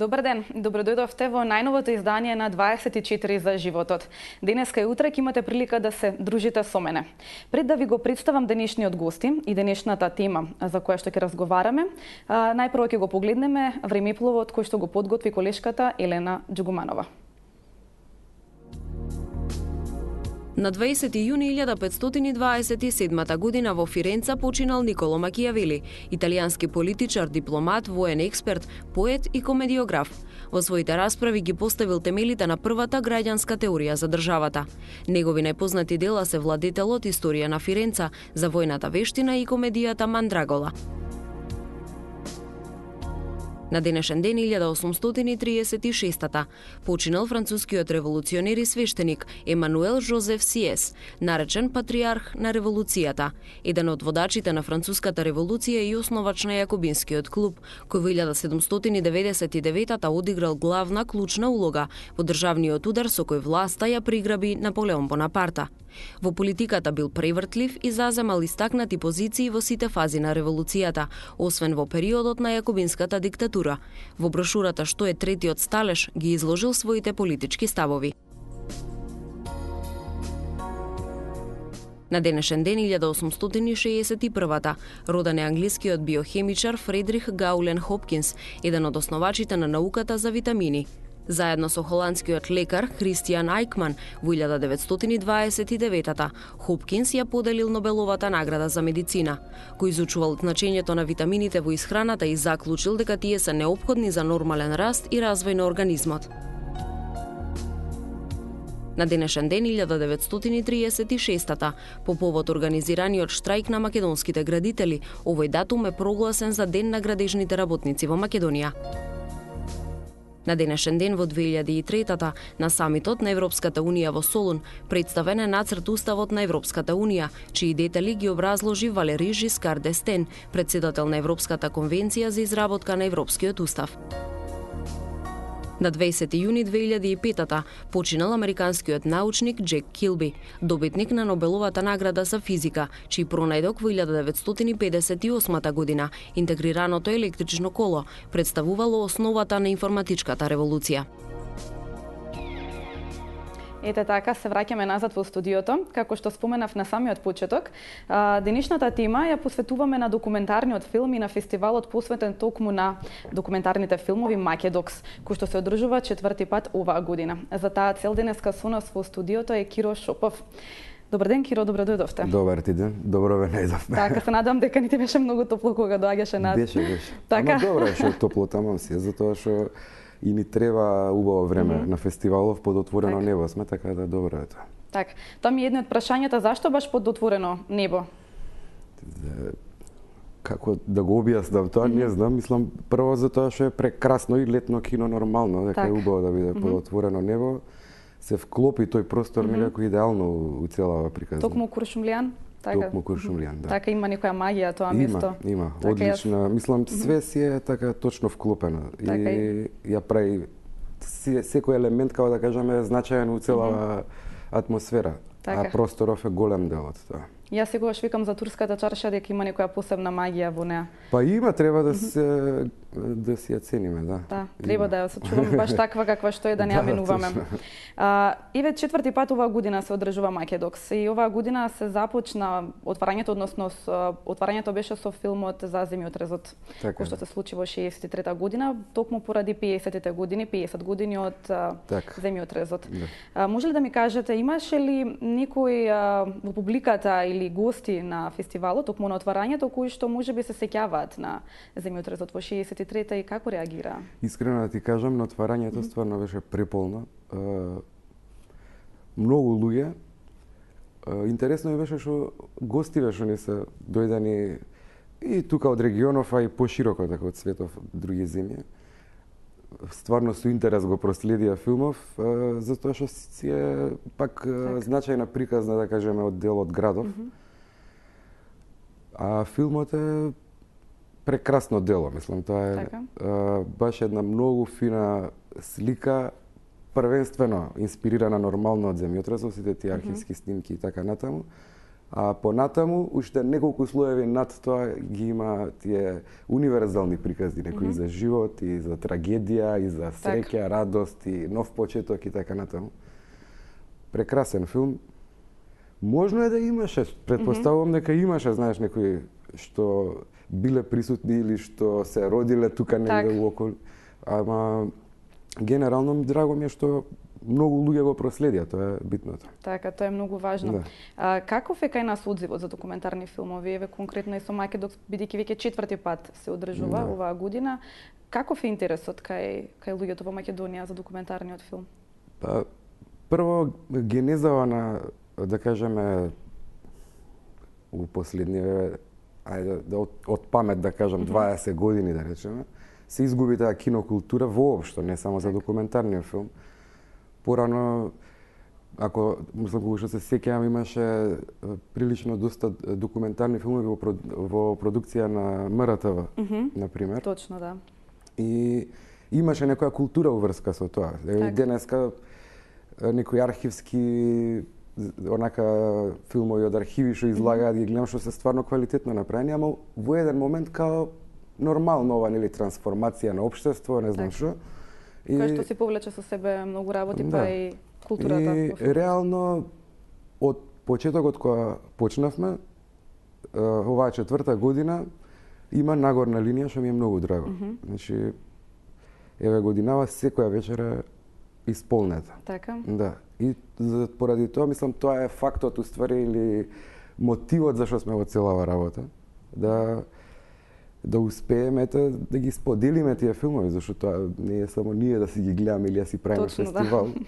Добар ден, добродојдовте во најновото издание на 24 за животот. Денеска и утре ќе имате прилика да се дружите со мене. Пред да ви го представам денешниот гости и денешната тема за која што ќе разговараме, најпрво ќе го погледнеме времепловот кој што го подготви колешката Елена Џугуманова. На 20 јуни 1527 година во Фиренца починал Николо Макијавели, италијански политичар, дипломат, воен експерт, поет и комедиограф. Во своите расправи ги поставил темелите на првата граѓанска теорија за државата. Негови најпознати дела се Владетелот, Историја на Фиренца, За војната вештина и комедијата Мандрагола. На денешен ден 1836 починал францускиот револуционер и свештеник Емануел Жозеф Сиес, наречен патриарх на револуцијата, еден од водачите на француската револуција и основач на Јакобинскиот клуб, кој во 1799 одиграл главна клучна улога во државниот удар со кој власта ја приграби Наполеон Бонапарта. Во политиката бил превртлив и заземал истакнати позиции во сите фази на револуцијата, освен во периодот на Јакобинската диктатура. Во брошурата «Што е третиот сталеж» ги изложил своите политички ставови. На денешен ден 1861 роден е англискиот биохемичар Фредрих Гаулен Хопкинс, еден од основачите на науката за витамини. Заедно со холандскиот лекар Христијан Ајкман во 1929 Хопкинс ја поделил Нобеловата награда за медицина, кој изучувал значењето на витамините во исхраната и заклучил дека тие се неопходни за нормален раст и развој на организмот. На денешен ден 1936 по повод организираниот штрајк на македонските градители, овој датум е прогласен за Ден на градежните работници во Македонија. На денешен ден во 2003 на самитот на Европската Унија во Солун представен е нацрт Уставот на Европската Унија, чии детали ги образложи Валери Жискар д'Естен, председател на Европската конвенција за изработка на Европскиот устав. На 20 јуни 2005 починал американскиот научник Джек Килби, добитник на Нобеловата награда за физика, чиј пронајдок во 1958 година, интегрираното електрично коло, представувало основата на информатичката револуција. Ете така, се враќаме назад во студиото. Како што споменав на самиот почеток, денешната тема ја посветуваме на документарниот филм и на фестивалот посветен токму на документарните филмови Македокс, кој што се одржува четврти пат оваа година. За таа цел денеска со нас во студиото е Киро Шопов. Добар ден, Киро, добродојдовте. Добар ти ден, добро ве најдовме. Така, се надевам дека не ти беше многу топло кога доаѓаше на... Беше. Така. Ама добро е што топло таму си, затоа што и ни треба убаво време на фестивалов под отворено небо сме, така да добро е тоа. Така, тоа ми е едно од прашањата, зашто баш под отворено небо? Како да го објаснам тоа, не знам, мислам прво затоа што е прекрасно и летно кино нормално, дека е убаво да биде под отворено небо, се вклопи тој простор некако идеално у целава приказна. Токму Куршумлијан? Токму Куршумлијан, да. Така има некоја магија тоа место. Има, одлична. Мислам све си е така точно вклопено и ја прави секој елемент, како да кажеме, значаен у целава атмосфера. А просторов е голем дел од тоа. Јас секогаш викам за турската чарша дека има некоја посебна магија во неа. Па има, треба да си ја цениме, да. Да, треба да ја сочуваме баш таква каква што е, да не ја менуваме. Еве четврти пат оваа година се одржува Македокс и оваа година се започна отварањето, односно отварањето беше со филмот за земјотрезот, кој што се случи во 63-та година, токму поради 50-те години, 50 години од земјотрезот. Може ли да ми кажете, имаше ли некој во публиката или гости на фестивалот, токму на отварањето, кои што можеби се сеќаваат на земјотрезот во 63-та и како реагира? Искрено да ти кажам, на отварањето стварно беше преполно. Многу луѓе. Интересно беше што гости што не се дојдени и тука од регионов, а и пошироко така од светов, други земји. Стварно со интерес го проследија филмов, затоа што си е пак значајна приказна, да кажеме, од дел од градов. А филмот е прекрасно дело, мислам, тоа е баш една многу фина слика, првенствено инспирирана нормално од земјотресот, сите тие архивски снимки и така натаму, А понатаму, уште неколку слоеви над тоа ги има тие универзални прикази, некои за живот, и за трагедија, и за среќа, радост, и нов почеток и така натаму. Прекрасен филм. Можно е да имаше, предпоставувам дека имаше, знаеш, некои што биле присутни или што се родиле тука негде уоколу. Ама генерално драго ми е што многу луѓе го проследија, тоа е битното. Така, тоа е многу важно. Да. Каков е кај нас одзивот за документарни филмови? Еве конкретно и со Македокс, бидејќи веќе 4ти пат се одржува оваа година. Каков е интересот кај луѓето во Македонија за документарниот филм? Па, прво, генезава на, да кажеме, у последниве, од памет да кажам, 20 години да речеме, се изгуби таа кинокултура воопшто, не само за документарниот филм. Порано, ако мислам кога што се сеќавам, имаше прилично доста документарни филмови во продукција на МРТВ, например. Точно, да. И имаше некоја култура уврска со тоа. Денеска некои архивски онака филмови од архиви што излагаат, ги гледам што се стварно квалитетно направени, ама во еден момент као нормално ова, нели, трансформација на општество, не знам што. Кој што си повлече со себе многу работи, па и културата. И реално, од почетокот кога почнавме, оваа 4-та година, има нагорна линија што ми е многу драго. Значи, еве годинава секоја вечера исполнета. Така? Да. И поради тоа, мислам, тоа е фактот, уствари, или мотивот зашто сме во целава работа. Да успееме да ги споделиме тие филмови, зашто тоа не е само ние да си ги гледаме или да си правиме фестивал. Да.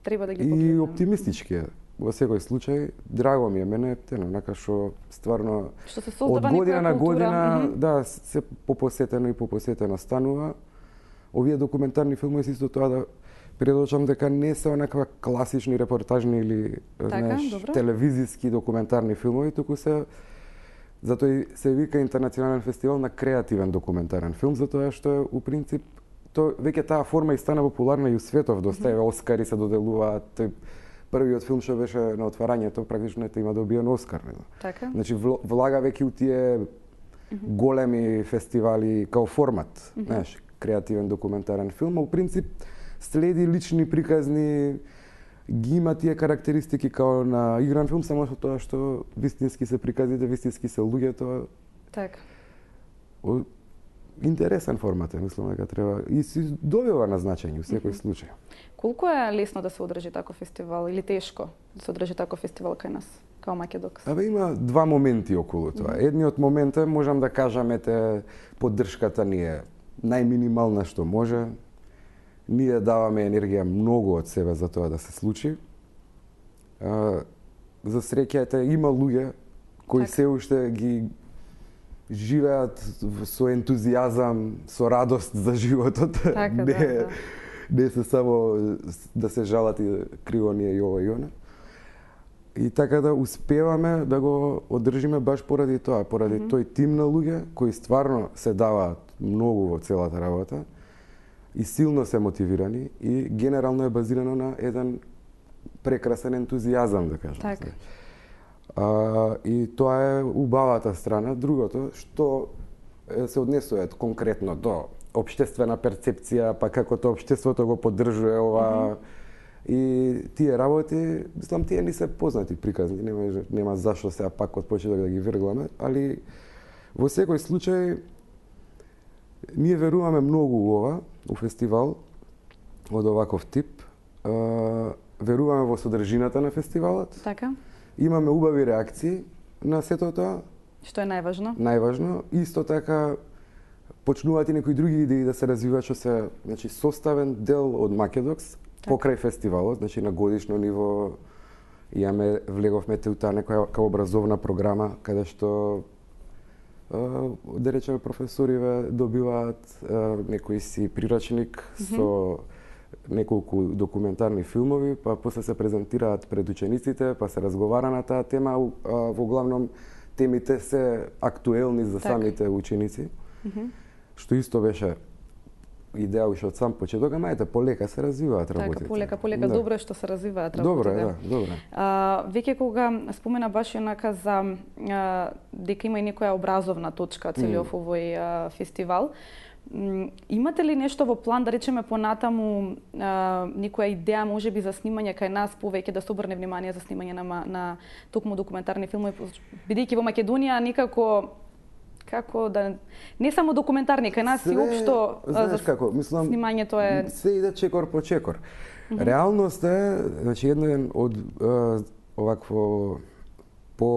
Треба да ги погледнеме. И погледнем. оптимистички во секој случај, драго ми е мене, онака што стварно што се од година на година, да, се попосетено и попосетено станува. Овие документарни филмови се исто тоа да предочам дека не се онаква класични репортажни или телевизиски документарни филмови, туку се затоа и се вика Интернационален фестивал на креативен документарен филм, затоа што е у принцип веќе таа форма и стана популарна и у светов, доста Оскари се доделуваат. Првиот филм што беше на отварањето практично има добиен Оскар. Така? Значи влага веќе у тие големи фестивали као формат, знаеш, креативен документарен филм, а у принцип следи лични приказни, ги има тие карактеристики као на игран филм, само со тоа што вистински се приказите, вистински се луѓето. Така. Интересен формат е, мислам дека треба и си добива на значење у секој случај. Колку е лесно да се одржи таков фестивал или тешко да се одржи таков фестивал кај нас, као Македокс? Има два моменти околу тоа. Едниот момент е, можам да кажам, поддршката ни е најминимална што може. Ние даваме енергија многу од себе за тоа да се случи. За среќа има луѓе кои се уште ги живеат со ентузијазам, со радост за животот. Не се само да се жалат и криво ние и ова и она. И така да успеваме да го одржиме баш поради тоа, поради тој тим на луѓе кои стварно се даваат многу во целата работа и силно се мотивирани и генерално е базирано на еден прекрасен ентузијазам, да кажам. Така. И тоа е убавата страна. Другото, што се однесува конкретно до општествена перцепција, па како тоа општеството го поддржува ова. И тие работи, мислам, тие ни се познати приказни, нема зашто сега пак од почеток да ги вергламе, али во секој случај ние веруваме многу у ова, у фестивал од оваков тип. Веруваме во содржината на фестивалот. Така. Имаме убави реакции на сето тоа. Што е најважно? Најважно. Исто така почнуваат и некои други идеи да се развиваат, што се, значи, составен дел од Македокс покрај фестивалот, значи на годишно ниво влеговме у таа некоја образовна програма каде што да речеме професориве добиваат некој си прирачник со неколку документарни филмови, па после се презентираат пред учениците, па се разговара на таа тема, во главном темите се актуелни за самите ученици, што исто беше идеја уште од сам почеток, ама ете полека се развиваат работите. Така, полека, добро е што се развиваат работите. Добро е, да, добро. Веќе кога спомена баш онака за дека има и некоја образовна точка целиот овој фестивал, имате ли нешто во план, да речеме понатаму, некоја идеја можеби за снимање кај нас, повеќе да се обрне внимание за снимање на токму документарни филмови, бидејќи во Македонија некако како да не само документарни, кај нас и општо мислам, снимањето е се иде чекор по чекор. Реалност е, значи еден од овакво по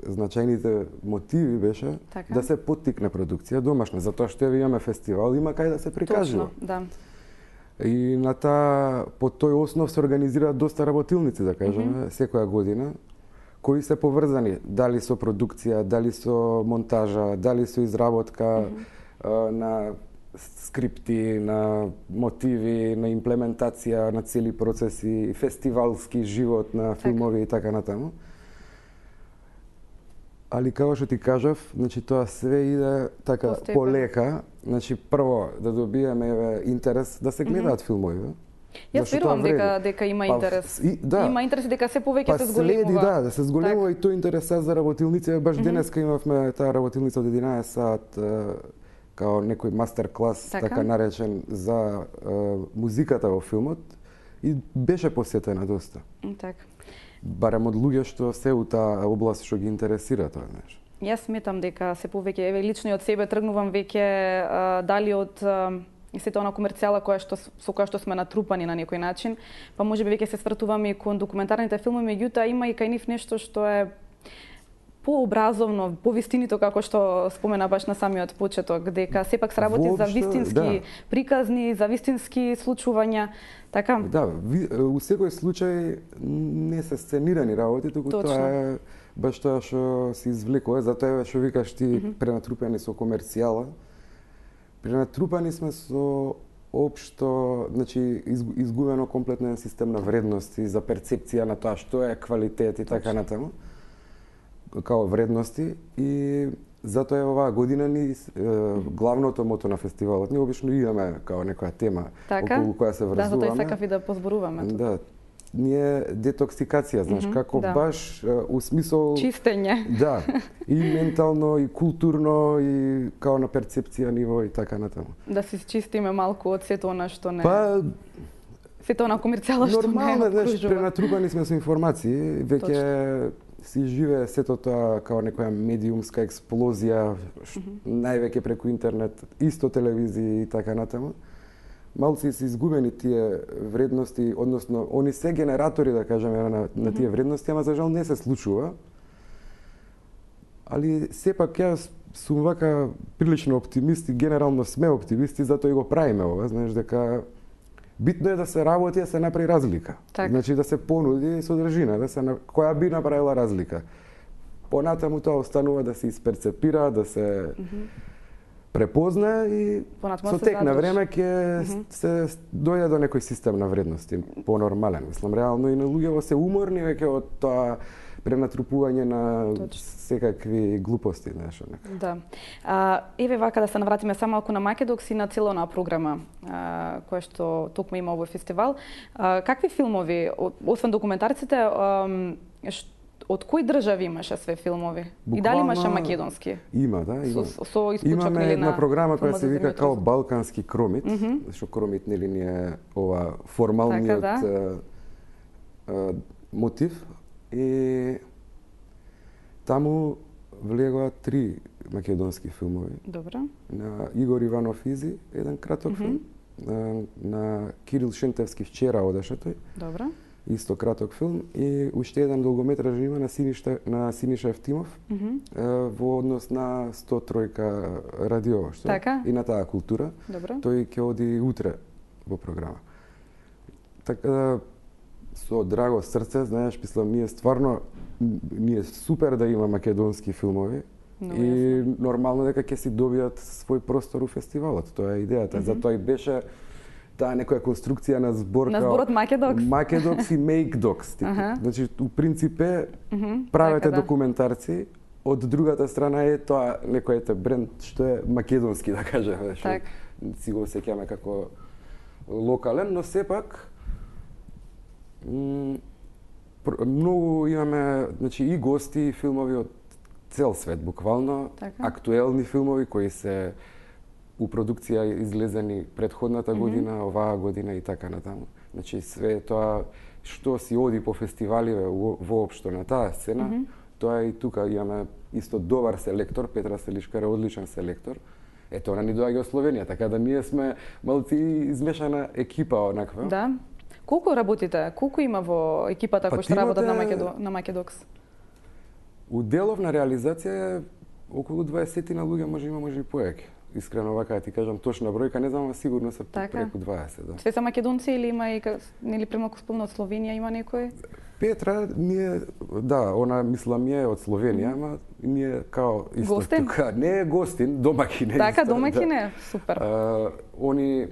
значајните мотиви беше да се поттикне продукција домашна, затоа што имаме фестивал, има кај да се прикажува. Точно, да. И по тој основ се организираат доста работилници, да кажеме, секоја година, кои се поврзани, дали со продукција, дали со монтажа, дали со изработка на скрипти, на мотиви, на имплементација на цели процеси, фестивалски живот на филмови и така натаму. Али како што ти кажав, значи тоа све иде така полека, значи прво да добиеме интерес да се гледаат филмови. Јас верувам дека има интерес. Има интерес и дека се повеќе се зголемува. Следи, да се зголемува и тој интерес за работилници. Баш денеска имавме таа работилница од 11 сат као некој мастер клас, така наречен, за музиката во филмот и беше посетена доста. Така. Барем од луѓе што се у таа област што ги интересира тоа нешто. Јас сметам дека се повеќе, еве лично и од себе тргнувам веќе дали од сето она комерцијала со која што сме натрупани на некој начин, па можеби веќе се свртуваме и кон документарните филмови, меѓутоа има и кај нив нешто што е пообразовно, повистинито, како што спомена баш на самиот почеток, дека сепак се работи за вистински приказни, за вистински случувања, така? Да, у секој случај не се сценирани работи, туку тоа е баш тоа што се извлекува, затоа што викаш ти пренатрупани со комерцијала. Пренатрупани сме со општо, значи изгубено комплетно систем на вредности за перцепција на тоа што е квалитет и така натаму, као вредности, и затоа е оваа година ни главното мото на фестивалот. Ние обично имаме као некоја тема околу која се врзуваме. Да, затоа и сакав и да позборуваме. Да, ние детоксикација, знаеш, како баш у смисол чистење. Да, и ментално, и културно, и као на перцепција ниво и така натаму. Да се чистиме малку од сето она што не. Сето она комерцијала што не. Нормално, знаеш, пренатрупани сме со информации, веќе си живее сето тоа као некоја медиумска експлозија, највеќе преку интернет, исто телевизија и така натаму. Малци се изгубени тие вредности, односно, они се генератори, да кажеме, на тие вредности, ама за жал не се случува. Али сепак јас сум вака прилично оптимист и генерално сме оптимисти, затоа и го правиме ова, знаеш, дека битно е да се работи, да се направи разлика. Так. Значи да се понуди содржина, која би направила разлика. Понатаму тоа останува да се исперцепира, да се препозна и со тек на време ќе се дојде до некој систем на вредности, понормален. Мислам, реално и на луѓето се уморни веќе од тоа пренатрупување на секакви глупости, нешто нека. Да. Еве вака да се навратиме само малку на Македокс и на целона програма која што токму има овој фестивал. Какви филмови, освен документарците, од кои држави имаше све филмови? Буквално, и дали имаше македонски? Има, да, има. Со имаме една програма која се вика као Балкански кромит, што кромит нели ни е ова формалниот мотив, и таму влегоа 3 македонски филмови. Добро. На Игор Иванов Изи, еден краток филм, на Кирил Шентевски Вчера одеше тој. Добро. Исто краток филм, и уште еден долгометражен има на Синиша Евтимов во однос на 103 радио, што? Така? И на таа култура. Добро. Тој ќе оди утре во програма. Така да, со драго срце, знаеш, мислам, ние супер да има македонски филмови, и нормално дека ќе си добијат свој простор у фестивалот. Тоа е идејата. Затоа и беше таа некоја конструкција на збор на зборот Македокс. Македокс и Мейкдокс. Значи, у принципе, правете документарци, од другата страна е тоа некој бренд што е македонски, да кажеме. си го сеќаме како локален, но сепак многу имаме, значи, и гости, и филмови од цел свет, буквално, актуелни филмови кои се у продукција излезени предходната година, оваа година и така натаму. Значи, све тоа што си оди по фестиваливе воопшто на таа сцена, тоа и тука имаме исто добар селектор, Петра Селишкар е одличен селектор. Ето, она ни доаѓа од Словенија, така да ние сме малци измешана екипа онаква. Да. Колку работите? Колку има во екипата кои што работат на Македокс? У деловна реализација околу 20 на луѓе може и поеќе. Искрено вака ти кажам точна бројка, не знам, сигурно се преку 20, да. Се македонци или има и нели премалку спомна од Словенија има некој? Петра ние она мислам е од Словенија, ама ние као исто гостин? Тука не е гостин, домакин е. Така, домакин е, супер. Они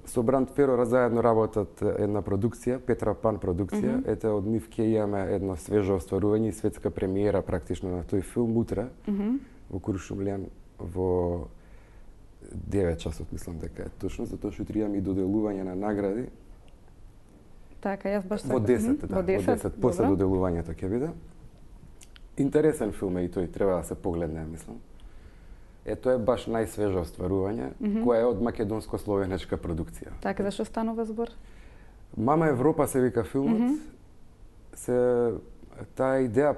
со Бранд Ферора заедно работат една продукција, Петра Пан продукција. Ете, од нив ќе имаме едно свежо остварување и светска премиера практично на тој филм утре во Куршумлијан во 9 часот, мислам дека е точно, затоа што утре имаме и доделување на награди. Така, јас баш во 10, во 10 после доделувањето ќе биде. Интересен филм е и тој, треба да се погледне, мислам. Тоа е баш најсвежо остварување, која е од македонско-словенечка продукција. Така, зашто станува збор? Мама Европа се вика филмот. Таа идеја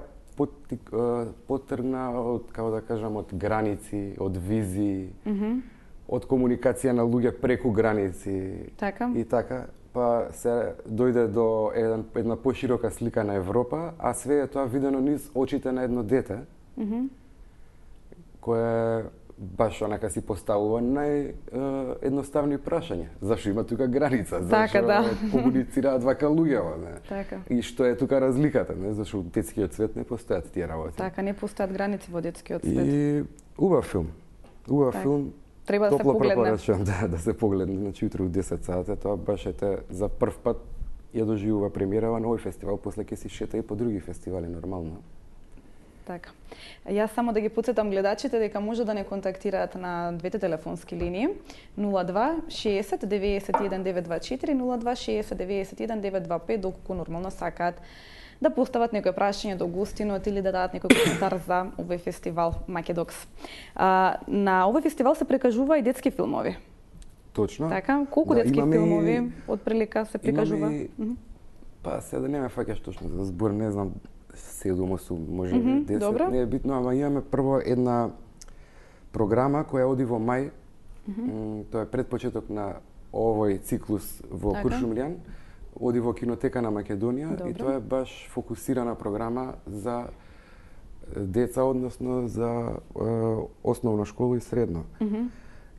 потргна од, како да кажам, од граници, од визии, од комуникација на луѓе преку граници. Така. И така, па се дојде до една поширока слика на Европа, а све е тоа видено низ очите на едно дете, кое баш онака си поставува наједноставни прашања. Зашо има тука граница? Зашо комуницираат вака луѓето? Така. И што е тука разликата? Зашо во детскиот свет не постојат тие работи? Така, не постојат граници во детскиот свет. И убав филм. Убав филм. Треба да се погледне. Топло препорачувам да се погледне. Значи утре у 10 сата, тоа баш за прв пат ја доживува премиерава на овој фестивал, после ќе си шета и по други фестивали нормално. Така. Јас само да ги потсетам гледачите дека може да не контактираат на двете телефонски линии 02 60 91 924 02 60 91 925 доколку нормално сакаат да постават некој прашање до гостинот или да дадат некој коментар за овој фестивал Македокс. На овој фестивал се прикажува и детски филмови. Точно. Така, колку детски филмови од прилика се прикажува? Па се да не ме фаќаш точно за збор, не знам, 7-8, може би 10, добро. Не е битно, ама имаме прво една програма која оди во мај, тоа е предпочеток на овој циклус во Куршумлијан, оди во кинотека на Македонија. Добро. И тоа е баш фокусирана програма за деца, односно за основна школа и средно.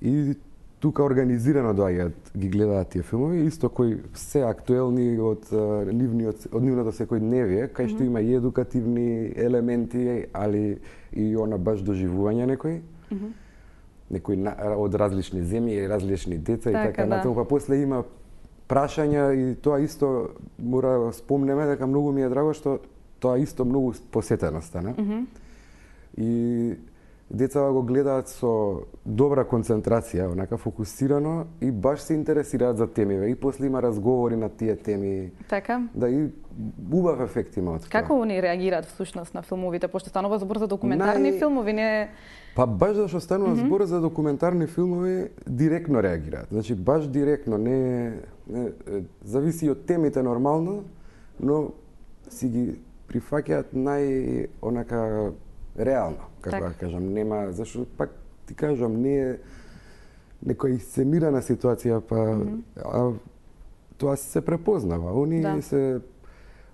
И тука организирано доаѓаат, ги гледаат тие филмови, исто кои се актуелни од нивното секојдневие, кај што има и едукативни елементи, али и она баш доживување некои од различни земји и различни деца и така натаму. Па после има прашања и тоа исто мора да спомнеме дека многу ми е драго што тоа исто многу посетено стана. И децата го гледаат со добра концентрација, онака фокусирано и баш се интересираат за темиве и после има разговори на тие теми. Така. Да, и убав ефект има од тоа. Како они реагираат всушност на филмовите, пошто станува збор за документарни филмови, не? Па баш зашто станува збор за документарни филмови, директно реагираат. Значи баш директно, не зависи од темите нормално, но си ги прифаќаат онака реално, како да кажам, нема, зашто пак ти кажам, не е некоја исценирана ситуација, па тоа се препознава. Они се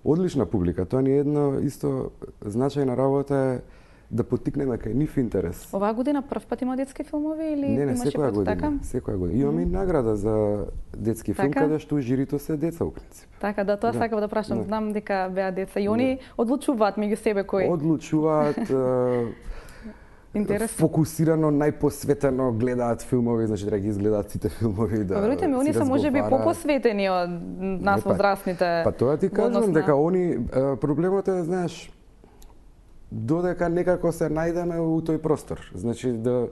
одлична публика, тоа ни е една исто значајна работа е да поттикнеме кај нив интерес. Оваа година прв пат има детски филмови или имаше секоја година? Така? Секоја година. Имаме и награда за детски филм, каде што жирито се деца у принцип. Така, да, тоа сакав да прашам. Знам дека беа деца и они одлучуваат меѓу себе кои. Одлучуваат фокусирано, најпосветено гледаат филмови, значи да ги изгледаат сите филмови, да. Верујте ми, они се можеби попосветени од нас возрастните. Па тоа ти кажам дека они проблемот е, знаеш, додека некако се најдеме у тој простор. Значи да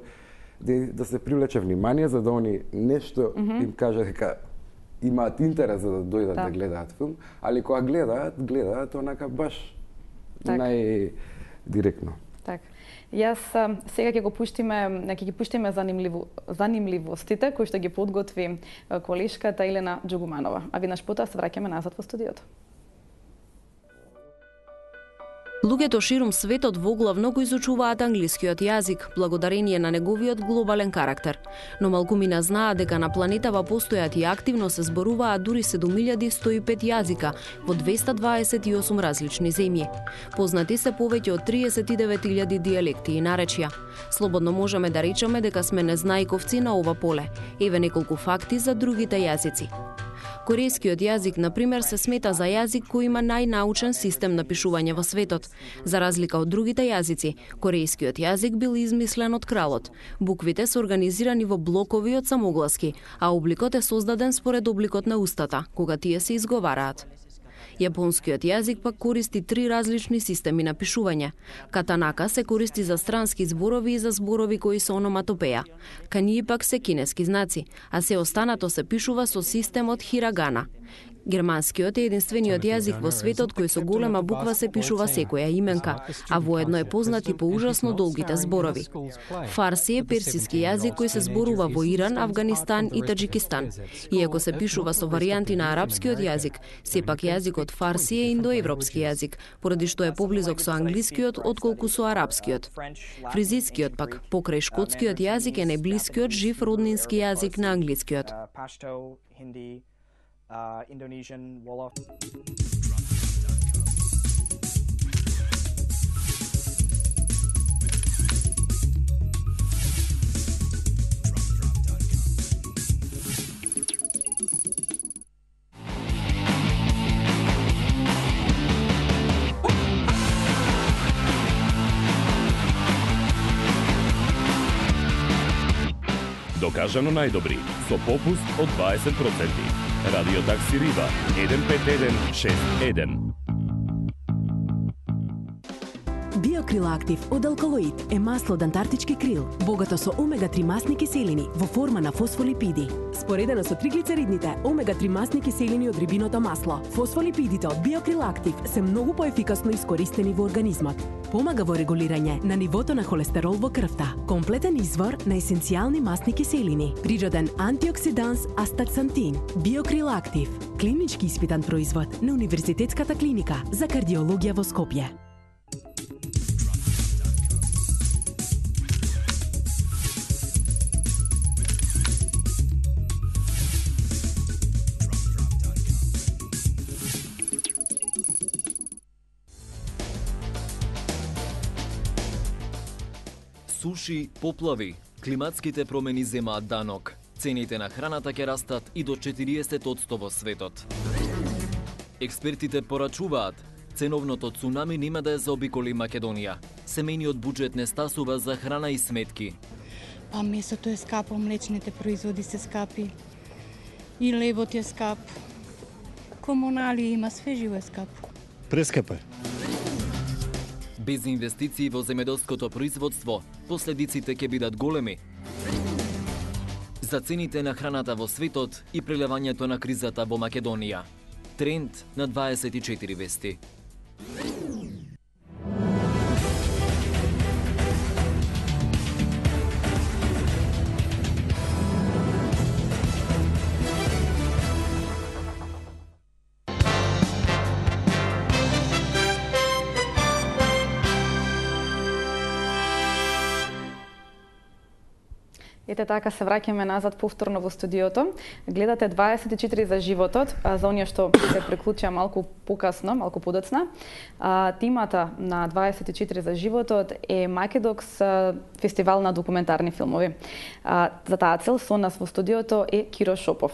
да се привлече внимание за да они нешто им каже дека имаат интерес за да дојдат да гледаат филм, али кога гледаат онака баш најдиректно. Така. Јас сега ќе ги пуштиме занимливостите кои што ги подготви колешката Елена Џугуманова. А веднаш потоа се враќаме назад во студиото. Луѓето ширум светот воглавно го изучуваат англискиот јазик, благодарение на неговиот глобален карактер. Но малкумина знаат дека на планетава постојат и активно се зборуваат дури 7105 јазика во 228 различни земји. Познати се повеќе од 39.000 дијалекти и наречја. Слободно можеме да речеме дека сме незнајковци на ова поле. Еве неколку факти за другите јазици. Корејскиот јазик, например, се смета за јазик кој има најнаучен систем на пишување во светот. За разлика од другите јазици, корејскиот јазик бил измислен од кралот. Буквите се организирани во блокови од самогласки, а обликот е создаден според обликот на устата, кога тие се изговараат. Јапонскиот јазик пак користи 3 различни системи на пишување. Катанака се користи за странски зборови и за зборови кои се ономатопеја. Канји пак се кинески знаци, а се останато се пишува со системот хирагана. Германскиот е единствениот јазик во светот кој со голема буква се пишува секоја именка, а воедно е познат и по ужасно долгите зборови. Фарси е персиски јазик кој се зборува во Иран, Авганистан и Таџикистан. Иако се пишува со варијанти на арапскиот јазик, сепак јазикот фарси е индоевропски јазик, поради што е поблизок со англискиот отколку со арапскиот. Фризискиот пак, покрај шкотскиот јазик, е најблискиот жив роднински јазик на англискиот. Indonesian Wolof. Докажано најдобри, со попуст од 20%. Радио Такси Риба 15161. Биокрил Актив од алкалоид е масло од антарктички крил, богато со омега-3 масни киселини во форма на фосфолипиди. Споредено со триглицеридните, омега-3 масни киселини од рибиното масло, фосфолипидите од Биокрил Актив се многу поефикасно искористени во организмот. Помага во регулирање на нивото на холестерол во крвта. Комплетен извор на есенцијални масни киселини. Природен антиоксиданс астаксантин. Биокрил Актив. Клинички испитан производ на Универзитетската клиника за кардиологија во Скопје. Суши, поплави, климатските промени земаат данок. Цените на храната ќе растат и до 40% во светот. Експертите порачуваат, ценовното цунами нема да ја заобиколи Македонија. Семејниот буџет не стасува за храна и сметки. Па месото е скапо, млечните производи се скапи, и лебот е скап. Комунали има, све живо е скапо. Прескапо е. Без инвестиции во земјоделското производство, последиците ќе бидат големи. За цените на храната во светот и прелевањето на кризата во Македонија. Тренд на 24 вести. Ете така се враќаме назад повторно во студиото. Гледате 24 за животот, за оние што се приклучија малку покасно, малку подоцна. Тимата на 24 за животот е Македокс фестивал на документарни филмови. За таа цел со нас во студиото е Киро Шопов.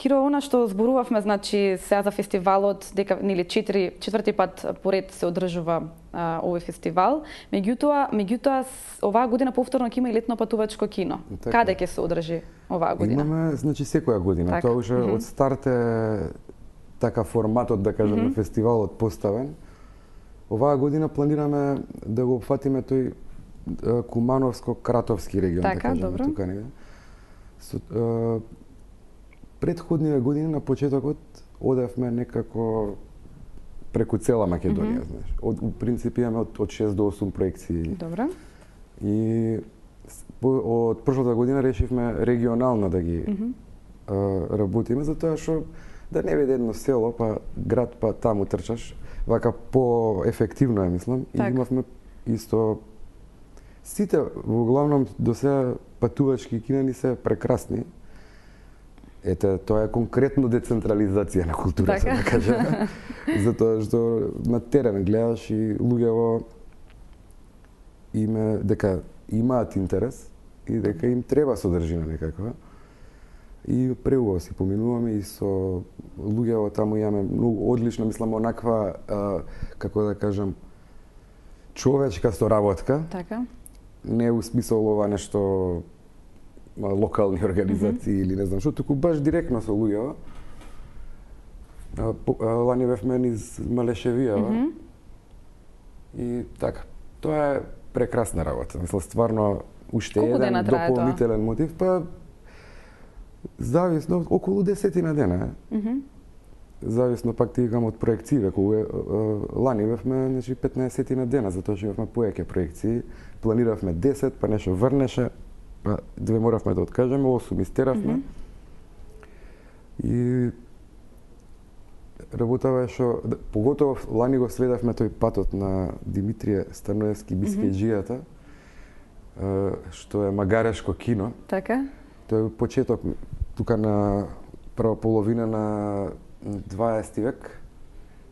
Киро, она што зборувавме, значи, сега за фестивалот, дека нели четврти пат поред се одржува овој фестивал. Меѓутоа оваа година повторно ќе има и летно патувачко кино. Така. Каде ќе се одржи оваа година? Имаме, значи, секоја година. Так. Тоа уште од старт е така форматот, да кажеме, фестивалот поставен. Оваа година планираме да го опфатиме тој Кумановско-Кратовски регион, Така, да кажеме, добро. тука негде. Предходниве години на почетокот одевме некако преку цела Македонија, знаеш. У принцип имаме од 6 до 8 проекции. Добро. И од прошлата година решивме регионално да ги работиме, затоа што да не биде едно село, па град, па таму трчаш, вака по-ефективно мислам. И имавме исто сите во главном до сега патувачки кинани се прекрасни. Ете, тоа е конкретно децентрализација на културата, да кажем. Затоа што на терен гледаш и луѓето дека имаат интерес и дека им треба содржина некаква. И преубаво си поминуваме и со луѓето таму имаме многу одлично, мислам, онаква, како да кажам, човечка соработка. Така. Не у смисол ова нешто локални организации или не знам што, туку баш директно со луѓето. Лани бевме низ Малешевијава. И така, тоа е прекрасна работа. Мислам, стварно, уште еден дополнителен мотив, па зависно, околу 10 дена. Зависно пак ти викам од проекциите, кога лани бевме, значи 15 дена, затоа што имавме поеќе проекции. Планиравме 10, па нешто врнеше, па 2 моравме да откажеме, 8 истеравме. И работава е што, поготово лани го следавме тој патот на Димитрije Станоевски Бискејџијата, што е магарешко кино. Така. Тој е почеток тука на прва половина на 20 век.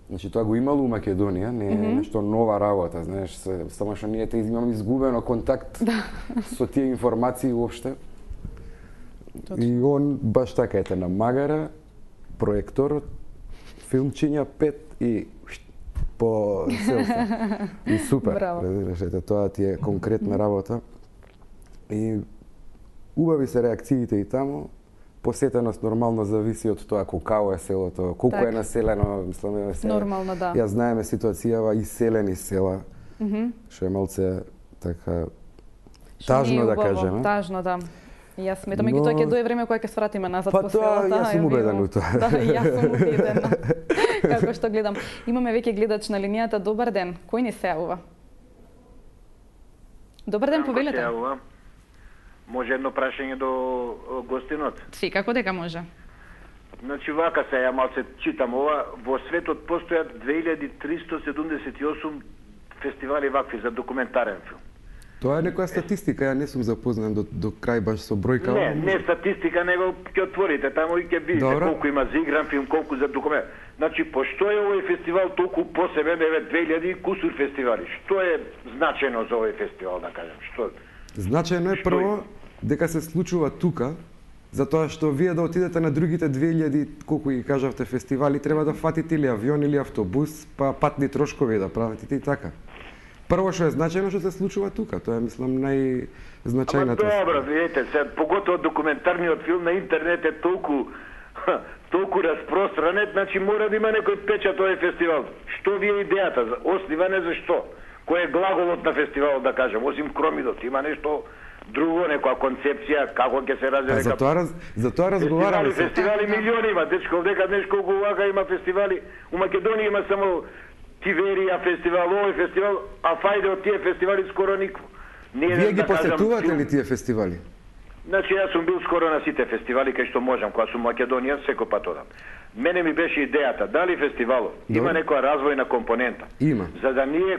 Значи тоа го имало у Македонија, не е нешто нова работа, знаеш, само што ние имаме изгубено контакт со тие информации уопште. И он баш така ете на магара, проекторот, филмчиња 5 и по селфи. И супер. Разбираш, ете тоа ти е конкретна работа. И убави се реакциите и таму. Посетеност нормално зависи од тоа колку е селото, колку е населено, мислам, нормално, да. Ја знаеме ситуацијава иселени села, што е малце така тажно да кажеме. Тажно, да. И јас сметам, тоа ќе дое време кога ќе свратиме назад по селото. Па тоа, јас сум убеден у тоа. Да, јас сум убедена. Како што гледам. Имаме веќе гледач на линијата. Добар ден. Кој ни се јавува? Добар ден, повелете. Може едно прашање до гостинот? Си, како дека може? Значи, вака се, ја малце читам ова, во светот постојат 2378 фестивали вакви за документарен филм. Тоа е некоја статистика, ја не сум запознан до крај баш со бројка. Не статистика, него ќе отворите таму и ќе видите колку има за игран филм, колку за документ. Значи, пошто е овој фестивал толку посебен, 2000 кусур фестивали? Што е значено за овој фестивал, да кажем? Што? Значено е прво дека се случува тука, затоа што вие да отидете на другите 2000, колку ги кажавте, фестивали, треба да фатите или авион или автобус, па патни трошкови да правите и така. Прво што е значено што се случува тука, тоа е, мислам, најзначајната. Ама добро, видите, поготово документарниот филм на интернет е толку распространет, значи мора да има некој печат овој фестивал. Што ви е идејата? Осниване за што? Кој е глаголот на фестивалот, да кажем, осим кромидот, има нешто друго, некоја концепција, како ќе се развие. Затоа разговараме. Фестивали милиони има, дечко, дека днес колку вака има фестивали. У Македонија има само Тиверија фестивал, овој фестивал, а фајде од тие фестивали скоро никво. Вие ги посетувате ли тие фестивали? Значи, јас сум бил скоро на сите фестивали кај што можам, кога сум Македонија, секој пат одам. Мене ми беше идејата, дали фестивалот има некоја развојна компонента. Има. За да ние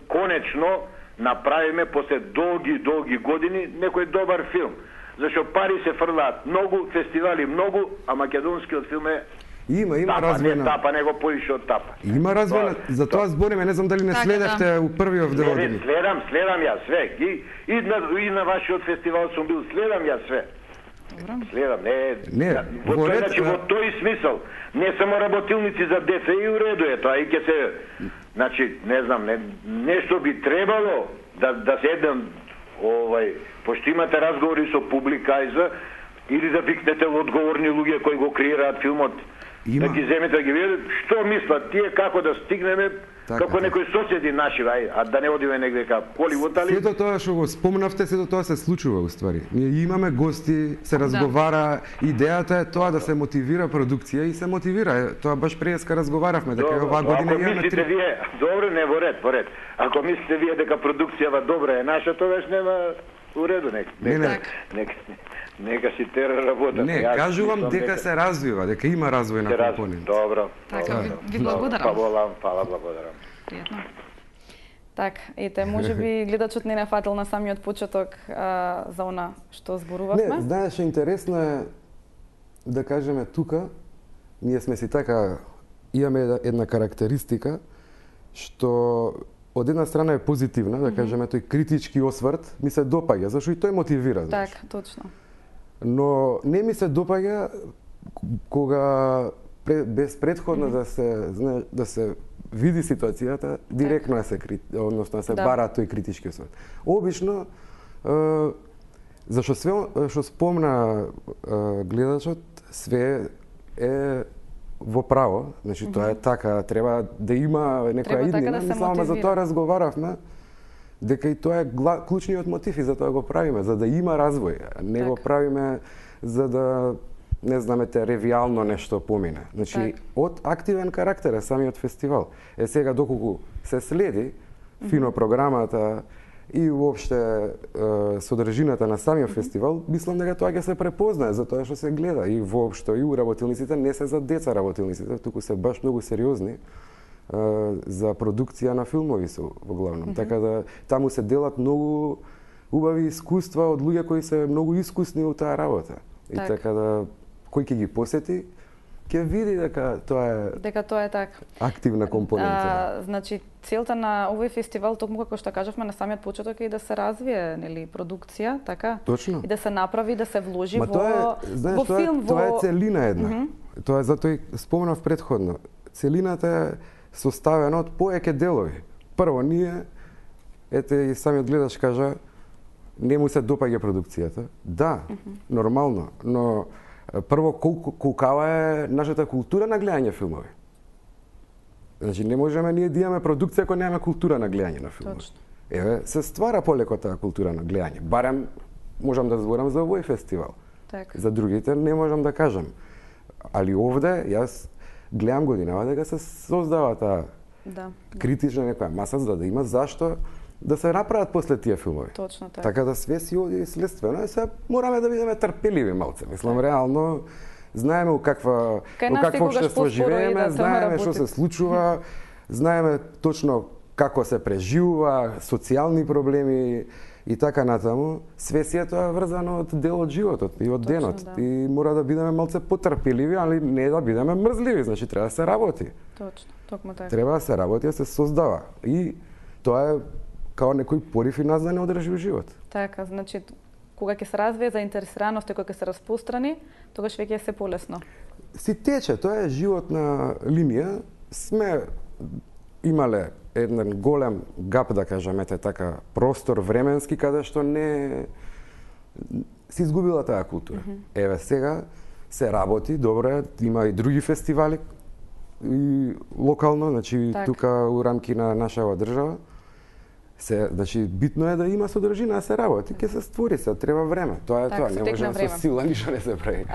конечно направиме после долги години некој добар филм. Зашто пари се фрлаат многу, фестивали многу, а македонскиот филм е Има развојна. Не тапа, него поише од тапа. Има развојна, за тоа збориме, не знам дали не следевте у првиот дел. Не, следам јас све. И на вашиот фестивал сум бил, следам јас све. Следам, во тој смисол, не само работилници за деца, и уреду е тоа, и ќе се, значи, не знам, нешто би требало да се еден, пошто имате разговори со публика или да викнете одговорни луѓе кои го креираат филмот, да ги земете, да ги видите, што мислат тие, како да стигнеме како некои соседи наши, а да не одиме негде ка Холивуд, али... Сето тоа што го спомнавте, сето тоа се случува уствари. Ние имаме гости, се разговара, идејата е тоа да се мотивира продукција и се мотивира. Тоа баш преска разговаравме, дека оваа година имаме три... Вие, добро, не во ред. Ако мислите вие дека продукцијава добра е наша, тогаш нема уреду, нека си тера работа. Не, кажувам дека се развива, дека има развој на компонент. Добро. Така, ви благодарам. Фала, благодарам. Пријатно. Так, ете, можеби гледачот не фатил на самиот почеток за она што зборувавме. Не, знаеш, интересно е да кажеме тука, ние сме си така, имаме една карактеристика што од една страна е позитивна, да кажеме, тој критички осврт ми се допаѓа, зашто и тој мотивира. Так, точно. Но не ми се допаѓа кога без предходно да се види ситуацијата, директно односно се бара тој критички осврт. Обично, зашто све што спомна гледачот, све е во право, значи тоа е така, треба да има некоја иднина, само за тоа разговаравме, дека и тоа е клучниот мотив и за тоа го правиме, за да има развој, не го правиме за да не знаме ревијално нешто помине. Значи, од активен карактер е самиот фестивал. Сега доколку се следи фино програмата и воопште содржината на самиот фестивал, мислам дека тоа ќе се препознае за тоа што се гледа и воопшто и работилниците не се за деца работилниците, туку се баш многу сериозни за продукција на филмови се во главном. Така да таму се делат многу убави искуства од луѓе кои се многу искусни во таа работа. И така да кој ќе ги посети ќе види дека тоа е така. Активна компонента. Значи целта на овој фестивал, токму како што кажавме на самиот почеток, е да се развие, нели, продукција, така? Точно. И да се направи, да се вложи во филм, тоа е целина една. Тоа е затоа и спомнав претходно. Целината е составена од повеќе делови. Прво, ние, ете и самиот гледач кажа, не му се допаѓа продукцијата. Да, нормално, но прво колкава е нашата култура на гледање филмови. Значи не можеме ние да имаме продукција ако немаме култура на гледање на филмови. Точно. Еве, се ствара полеко таа култура на гледање. Барем можам да зборам за овој фестивал. Так. За другите не можам да кажам. Али овде јас гледам годинава дека се создава таа критична некоја маса за да има зашто да се направат после тие филмови. Точно така. Така да све си оди следствено и се мораме да бидеме трпеливи малце. Мислам, реално знаеме у какво општество живееме, знаеме што се случува, знаеме точно како се преживува, социјални проблеми и така натаму. Све си е тоа врзано од дел од животот и од денот. Да. И мора да бидеме малце потрпеливи, али не да бидеме мрзливи, значи треба да се работи. Точно, токму така. Треба да се работи, да се создава. И тоа е као некој порив и нас да не одржи живот. Така, значи, кога ќе се развие заинтересираност и кога ќе се распространи, тогаш веќе е се полесно. Си тече, тоа е животна линија. Сме имале еден голем гап, да кажеме така, простор временски, каде што не се изгубила таа култура. Еве сега се работи, добро е, има и други фестивали и локално, значи тука у рамки на нашава држава. Значи, битно е да има содржина, да се работи, ќе се створи, се треба време. Тоа е тоа, не може со сила ништо не се прави.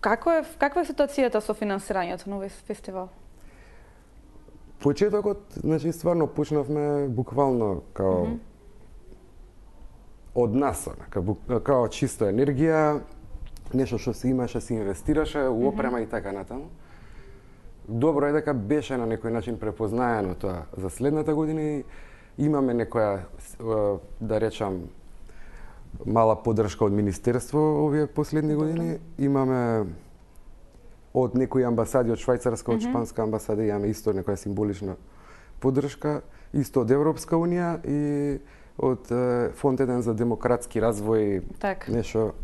Каква е ситуацијата со финансирањето на овој фестивал? Почетокот, значи, стварно почнавме буквално као од нас, као чиста енергија, нешто што се имаше, се инвестираше, у опрема и така натаму. Добро е дека беше на некој начин препознаено тоа за следната година и имаме некоја, да речам, мала поддршка од Министерство овие последни години. Имаме од некои амбасади, од Швајцарска, од Шпанска амбасада, имаме исто некоја символична поддршка, исто од Европска Унија и од Фонд 1 за демократски развој, нешто.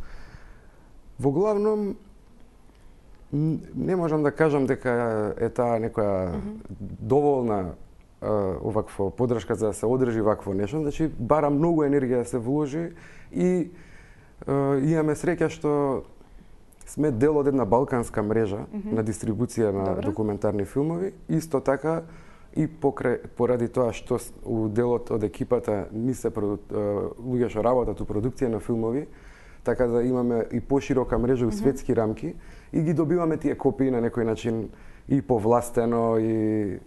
Во главном, не можам да кажам дека е таа некоја доволна оваква поддршка за да се одржи вакво нешто, значи бара многу енергија да се вложи и имаме среќа што сме дел од една балканска мрежа на дистрибуција на документарни филмови. Исто така и поради тоа што у делот од екипата не се луѓе што работат у продукција на филмови, така да имаме и поширока мрежа у светски рамки и ги добиваме тие копии на некој начин и повластено и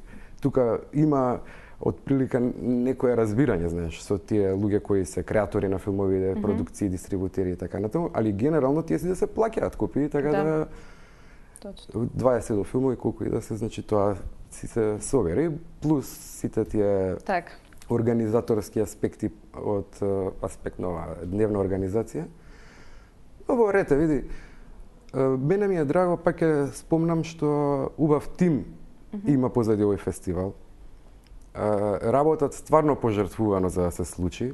тука има отприлика некое разбирање, знаеш, со тие луѓе кои се креатори на филмови, продукции, дистрибутери и така натаму, али генерално тие си да се плаќаат копии, така да точно 20 филмови колку и да се, значи тоа си се собери, плюс сите тие организаторски аспекти од аспект на дневна организација. Но во рете, види, мене ми е драго, пак ќе спомнам што убав тим има позади овој фестивал. Работат стварно пожртвувано за да се случи.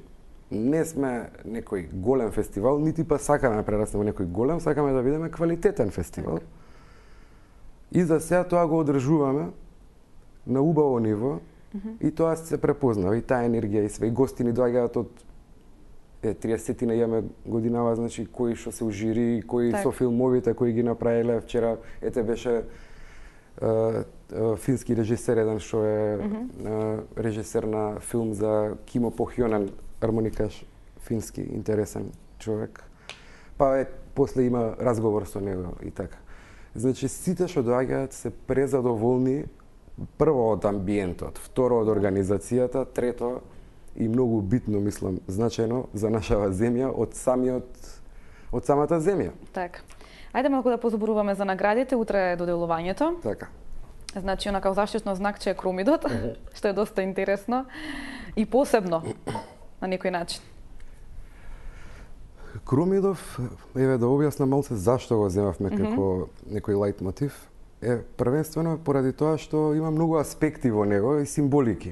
Не сме некој голем фестивал, нити па сакаме да прераснеме некој голем, сакаме да бидеме квалитетен фестивал. И за сега тоа го одржуваме на убаво ниво и тоа се препознава, и таа енергија и све. И гости ни доаѓаат од 30-ти имаме годинава, значи кои што се у жири, кои со филмовите кои ги направиле. Вчера беше фински режисер еден што е режисер на филм за Кимо Похјонен, армоникаш, фински, интересен човек. Па после има разговор со него и така. Значи сите што доаѓаат се презадоволни, прво од амбиентот, второ од организацијата, трето и многу битно, мислам, значајно за нашава земја од самата земја. Така. Ајде малку да позборуваме за наградите, утре е доделувањето. Така. Значи, онака заштитно знакче е Кромидот, што е доста интересно и посебно на некој начин. Кромидов, еве да објаснам малце зашто го земавме како некој лајт мотив, е првенствено поради тоа што има многу аспекти во него и символики.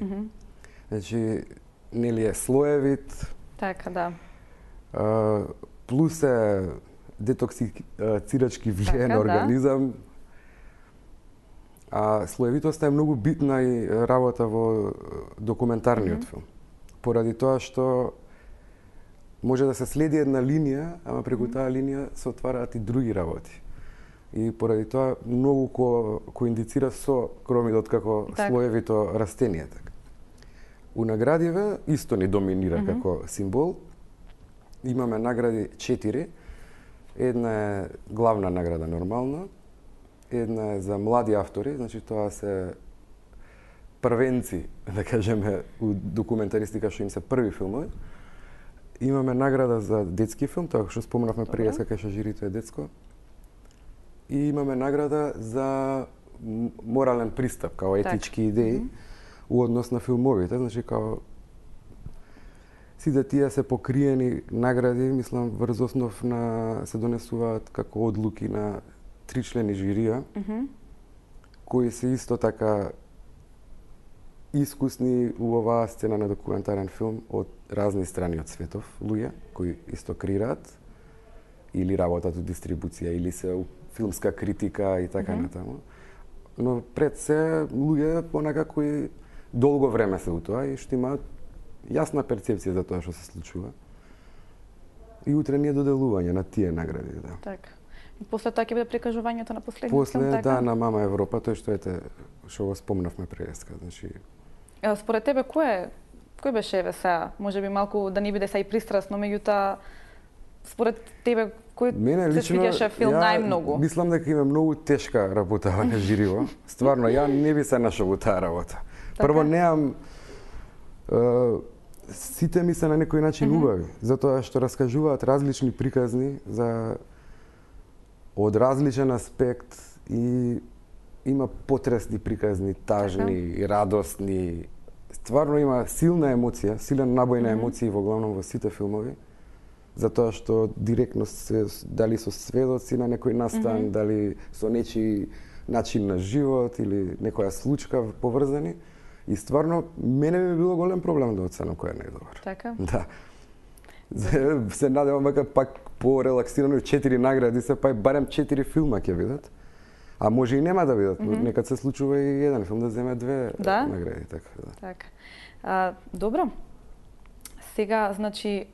Значи, нели е слоевит. Така, да. Плюс е детоксицирачки влијае на организам. А слоевитоста е многу битна и работа во документарниот филм. Поради тоа што може да се следи една линија, ама преку таа линија се отвараат и други работи. И поради тоа многу кој индицира со Кромидот како слоевито растение. У наградиве исто ни доминира како символ. Имаме награди 4. Една е главна награда нормално, една е за млади автори, значи тоа се првенци, да кажеме, у документаристика што им се први филмови. Имаме награда за детски филм, тоа што спомнавме пред кај што жирито е детско. И имаме награда за морален пристап, као етички идеи у однос на филмовите, значи као сите тие се покриени награди, мислам, врз основ на се донесуваат како одлуки на 3 члени жирија, кои се исто така искусни у оваа сцена на документарен филм од разни страни од светов, луѓе кои исто креираат или работат у дистрибуција или се у филмска критика и така натаму. Но пред се луѓе понака кои долго време се у тоа и што имаат јасна перцепција за тоа што се случува. И утре ни е доделување на тие награди, да. Така. И после тоа ќе биде прикажувањето на последниот после, филм, така? Да, на Мама Европа, тој што го спомнавме преска, значи. Според тебе кој беше еве сега, можеби малку да не биде сега и пристрасно, меѓутоа според тебе кој се свиѓаше филм најмногу? Мислам дека има многу тешка работа на жириво. Стварно, ја не би се нашол во таа работа. Прво неам сите ми се на некој начин убави, затоа што раскажуваат различни приказни за од различен аспект и има потресни приказни, тажни, радосни. Стварно има силна емоција, силен набој на емоции во главном во сите филмови, затоа што директно се дали со сведоци на некој настан, дали со нечи начин на живот или некоја случка поврзани. И стварно, мене би било голем проблем да оценам кој е најдобар. Така? Да. Се надевам дека пак по-релаксирано 4 награди се, па барем 4 филма ќе видат. А може и нема да видат, некад се случува и еден филм да земе 2 награди. Така, да. Така. Добро. Сега, значи,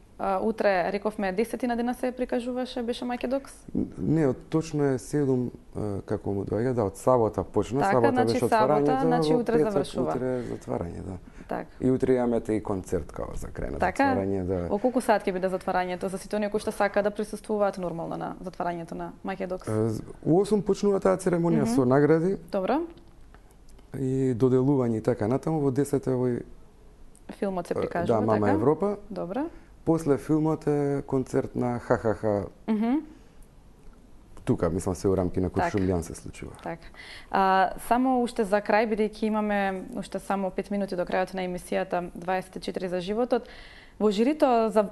утре рековме 10 на дена се прикажуваше, беше Македокс? Не, точно е 7 како му доаѓа, да, од сабота почна, така, сабота значи, беше отварањето, значи утре петок, завршува. Утре затварање, да. Так. И утре имаме и концерт као за крај на така? затварање, да. О колку саат ќе биде затварањето за сите оние кои што сакаат да присуствуваат нормално на затварањето на Македокс? У 8 почнува таа церемонија со награди. Добро. И доделување и така натаму, во 10 овој филмот се прикажува, да, Мама така? Европа. Добро. После филмот е концерт на ХХХ. Тука, мислам, се у рамки на Куршумљан се случува. Така. Само уште за крај, бидејќи имаме уште само 5 минути до крајот на емисијата 24 за животот, во жирито за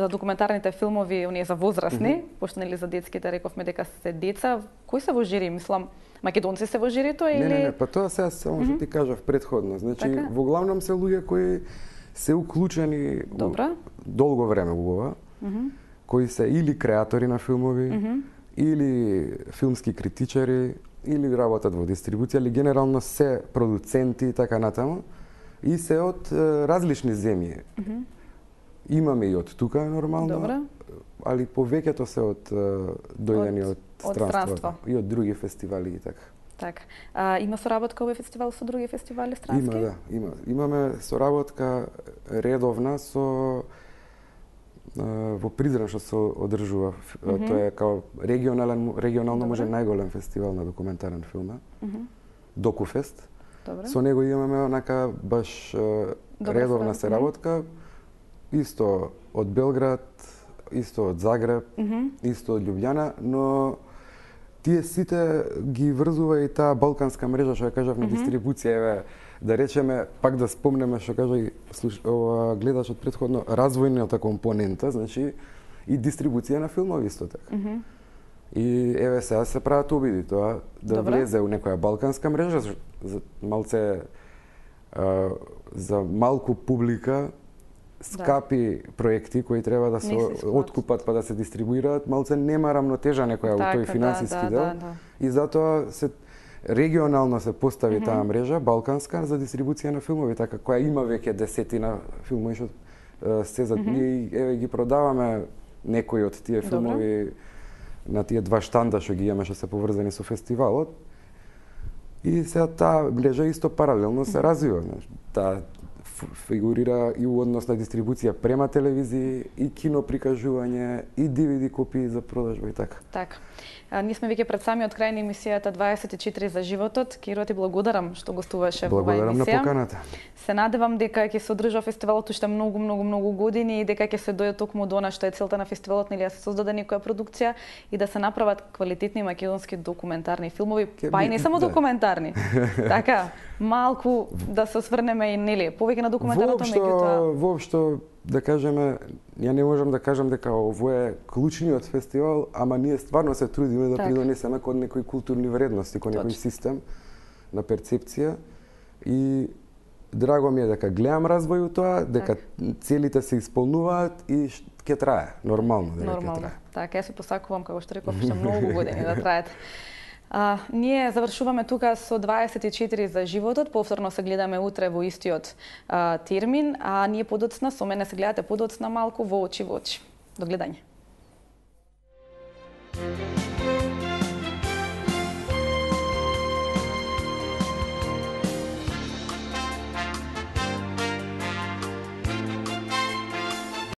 документарните филмови, оние за возрастни, пошто нели за детските рековме дека се деца, кои се во жири, мислам, македонци се во жирито или Не, па тоа сега само што ти кажав предходно. Значи, така? во главном се луѓе кои се уклучени долго време во ова, кои се или креатори на филмови, или филмски критичари, или работат во дистрибуција, или генерално се продуценти и така натаму, и се од различни земји. Имаме и од тука нормално, Добре. али повеќето се од дојдени од странство и од други фестивали и така. Така. Има соработка овој фестивал со други фестивали странски? Има, да, имаме соработка редовна со во Придран што се одржува. Тоа е као регионално може најголем фестивал на документарен филм. Докуфест. Добре. Со него имаме онака баш редовна соработка. Исто од Белград, исто од Загреб, исто од Љубљана, но тие сите ги врзува и таа балканска мрежа што ја кажав на дистрибуција, еве да речеме, пак да спомнеме што кажа и гледачот предходно, развојната компонента, значи и дистрибуција на филмови исто така. И еве сега се прават обиди тоа да влезе у некоја балканска мрежа за малце за малку публика, скапи проекти кои треба да се откупат па да се дистрибуираат, малце нема рамнотежа некоја во тој финансиски дел. И затоа се регионално се постави таа мрежа балканска за дистрибуција на филмови, така која има веќе десетина филмови што се за ние еве ги продаваме некои од тие филмови на тие два штанда што ги имаме што се поврзани со фестивалот. И сега таа мрежа исто паралелно се развива, таа фигурира и у однос на дистрибуција према телевизии, и кино прикажување, и DVD копии за продажба и така. Така. Ние сме веќе пред самиот крај на емисијата 24 за животот. Киро, ти благодарам што гостуваше во оваа емисија. Благодарам на поканата. Се надевам дека ќе се одржува фестивалот уште многу години и дека ќе се дојде токму до она што е целта на фестивалот, нели да се создаде некоја продукција и да се направат квалитетни македонски документарни филмови, па и не само документарни. Така, малку да се осврнеме и нели повеќе на документарното меѓутоа. Воопшто да кажеме, ја не можам да кажам дека ово е клучниот фестивал, ама ние стварно се трудиме да придонесеме кон некои културни вредности, кон некој систем на перцепција. И драго ми е дека гледам развој у тоа, дека целите се исполнуваат и ќе трае, нормално дека ќе трае. Така, јас се посакувам, како што реков, уште многу години да траат. Ние завршуваме тука со 24 за животот, повторно се гледаме утре во истиот термин, а ние подоцна, со мене се гледате подоцна малку во очи во очи. До гледање.